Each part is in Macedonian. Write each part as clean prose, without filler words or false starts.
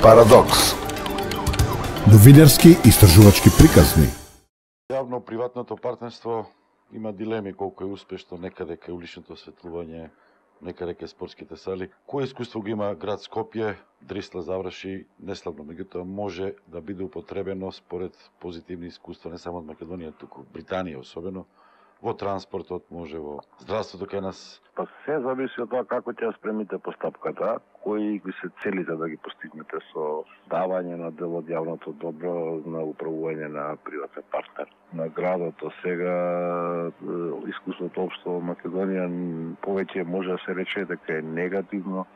Парадокс. Новинарски истражувачки приказни. Јавно-приватното партнерство има дилеми колку е успешно, некаде кај уличното осветлување, некаде кај спортските сали. Кој искуство го има град Скопје? Дрисла заврши неславно, меѓутоа може да биде употребено според позитивни искуства не само од Македонија, туку Британија особено, во транспортот, може во здравството кај нас. Па се зависи од тоа како ќе ја спремите постапката, кои ви се целите да ги постигнете со давање на дел од јавното добро на управување на приватен партнер. На градот сега искуството општо во Македонија повеќе може да се рече дека е негативно,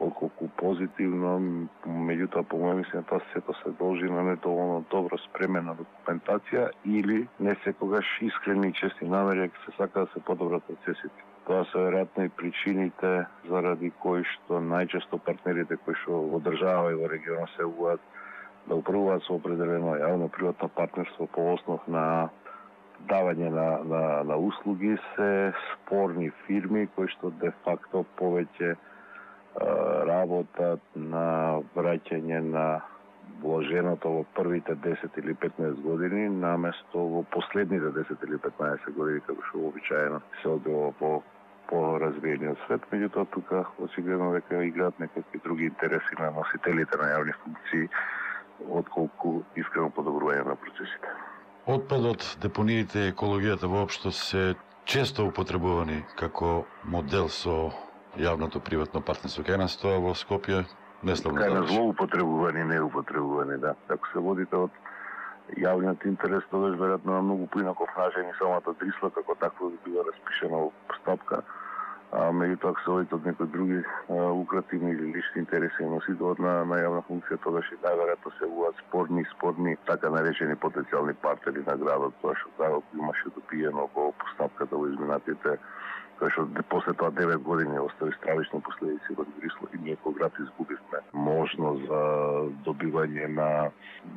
отколку позитивно, меѓутоа по моје мислење тоа сето се должи на недоволно добро спремена документација или не секогаш искрени и честни намери ќе се сака да се подобрат процесите. Тоа се веројатно и причините заради кои што најчесто партнерите кои што во држава и во регионот се угат да управуваат со определено јавно-приватно партнерство по основ на давање на услуги се спорни фирми кои што де факто повеќе работат на враќање на вложеното во првите 10 или 15 години наместо во последните 10 или 15 години, како што обичаено се одбива по развиениот свет. Меѓутоа тука очигледно дека играат некакви други интереси на носителите на јавни функции отколку искрено подобрување на процесите. Отпадот, депониите и екологијата воопшто се често употребувани како модел со јавното приватно партнерство. Кај нас тоа во Скопје неславно заврши. Кај нас злоупотребувани, неупотребувани, да. Ако се водите од јавниот интерес, тогаш веројатно на многу поинаков начин и самата Дрисла како такво би била распишена во постапка. Меѓутоа, ако се водите од некои други лукративни или лични интереси и носителот на јавна функција, тогаш и најверојатно се вуат спорни, така наречени потенцијални партнери на градот, тоа што градот имаше допиено во постапката во изминатите, кој што после тоа 9 години остави стравични последици во Дрисла и ние како град изгубивме можност за добивање на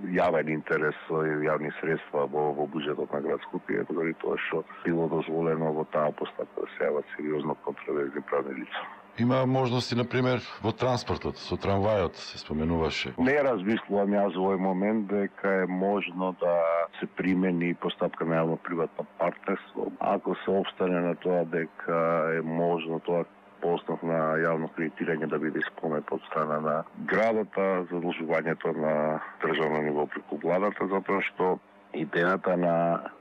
јавен интерес и јавни средства во буџетот на град Скопје, дори тоа што било дозволено во таа постапка да се јават сериозно контроверзни правни лица. Има можности, например, во транспортот, со трамвајот се споменуваше. Не размислувам јас во овој момент дека е можно да се примени постапка на јавно-приватно партнерство. Ако се обстане на тоа дека е можно тоа по основ на јавно кредитирање да биде исполнет од страна на градата, задолжувањето на државно ниво преку владата, затоа што идејата на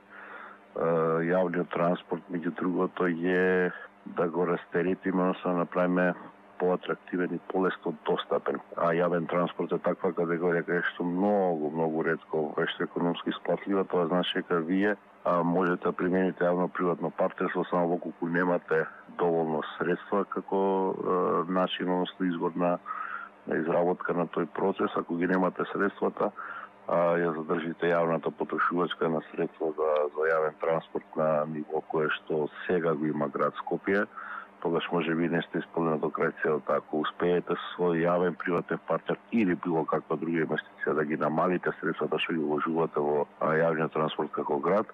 јавниот транспорт, меѓу другото, е да го растеретиме, односно да направиме поатрактивен и полесно достапен. А јавен транспорт е таква категорија кај што многу ретко вешто економски исплатлива, тоа значи дека вие можете да примените јавно-приватно партнерство само во колку немате доволно средства како начин, односно извор на изработка на тој процес. Ако ги немате средствата, ја задржите јавната потрошувачка на средства за јавен транспорт на ниво кое што сега го има град Скопје, тогаш може би не сте исполнени до крај целта. Ако успеете со свој јавен приватен партнер или било каква друга инвестиција да ги намалите средствата што ги вложувате во јавниот транспорт како град,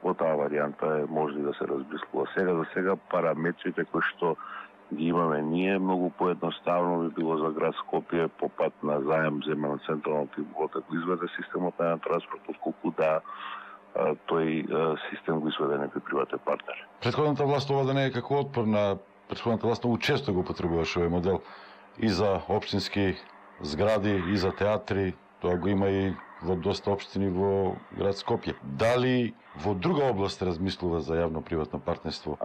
во таа варијанта може да се размислува. За сега параметрите кои што ги имаме ние, многу поедноставно би било за град Скопје по пат на заем земен од централното библиотека да изведе системот на транспорт, отколку да тој систем го изведе некој приватен партнер. Претходната власт ова да не е како отпор на претходната власт, многу често го употребуваше овој модел и за општински згради, и за театри, тоа го има и во доста општини во град Скопје. Дали во друга област размислува за јавно-приватно партнерство?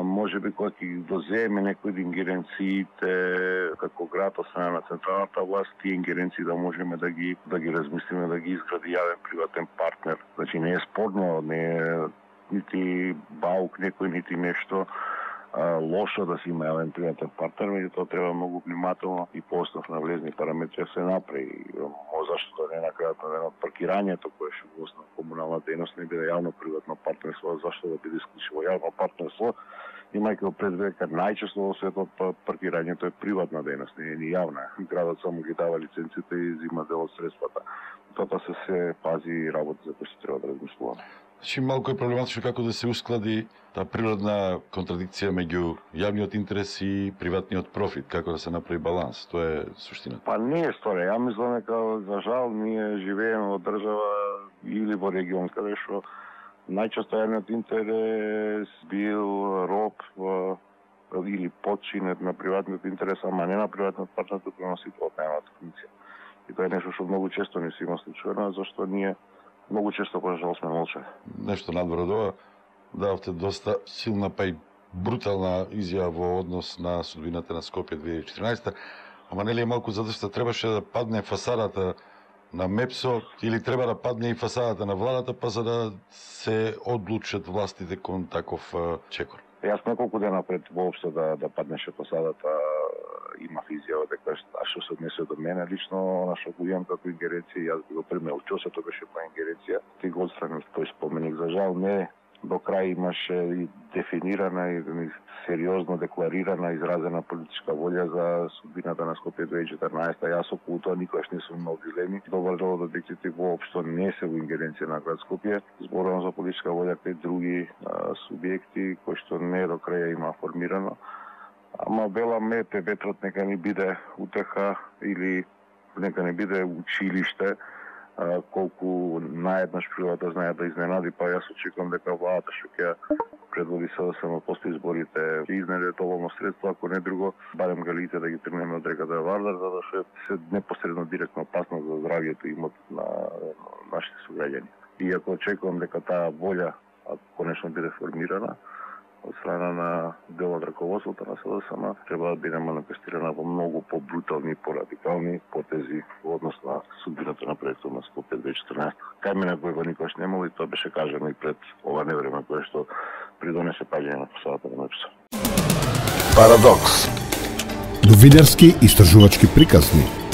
Може би кога ќе дозееме некои од ингеренциите како град од страна на централната власт, тие ингеренции да можеме да ги размислиме, да ги изгради јавен приватен партнер. Значи не е спорно, не е нити баук некој, нити нешто лошо да се има јавен приватен партнер, меѓутоа треба многу внимателно и по основ на влезни параметри да се направи. Зашто да не накрајат на паркирањето кое што во основа комунална дејност не биде јавно-приватно партнерство, зашто да биде исклучиво јавно партнерство, имајќи пред дека најчесто во светот паркирањето е приватна дејност, не е ни јавна. Градот само ги дава лиценците и зима дел од средствата. Тоа се пази и работи за кои се треба да размислуваме. Значи малку е проблематично како да се усклади таа природна контрадикција меѓу јавниот интерес и приватниот профит, како да се направи баланс. Тоа е суштината. Па не е стори. Ја мислам дека за жал ние живееме во држава или во регион каде што најчесто јавниот интерес бил роб или подчинет на приватниот интерес, ама не на приватниот партнер, туку на носителот на јавната функција. И тоа е нешто што многу често не се има случајно, зашто ние многу често кога жал сме молчали. Нешто надвор од ова, давте доста силна па и брутална изјава во однос на судбината на Скопје 2014, ама нели е малку задоста требаше да падне фасадата на МЕПСО или треба да падне и фасадата на владата па за да се одлучат властите кон таков чекор. Јас неколку дена пред воопшто да паднеше фасадата имав изјава дека што се однесе до мене лично, на што го имам како ингеренција, јас би го примел. Што се тоа беше по ингеренција, ти го отстранив тој споменик. За жал не до крај имаше и дефинирана и сериозно декларирана, изразена политичка волја за судбината на Скопје 2014. Јас околу тоа никогаш не сум имал дилеми. Добар дел од објектите воопшто не се во ингеренција на град Скопје. Зборувам за политичка волја кај други субјекти кои што не до крај има формирано. Ама веламе ветрот нека не биде утеха или нека не биде училиште, колку наеднаш прилата знае да изненади, па јас очекувам дека владата што ќе предводи СДСМ после изборите ќе изнеде доволно средства, ако не друго, барем галите да ги тргнеме од реката Вардар, за да се непосредно директно опасност за здравјето и имот на нашите суграѓани. И ако очекувам дека таа волја, ако конечно биде формирана, од страна на дел од раководството на СДСМ, треба да биде манифестирана во многу побрутални и порадикални потези во однос на судбината на проектот на Скопје 2014. Кај мене кој никогаш немало и тоа беше кажано и пред ова невреме кое што придонесе паѓање на фасадата на МЕПСО. Парадокс. Новинарски истражувачки приказни.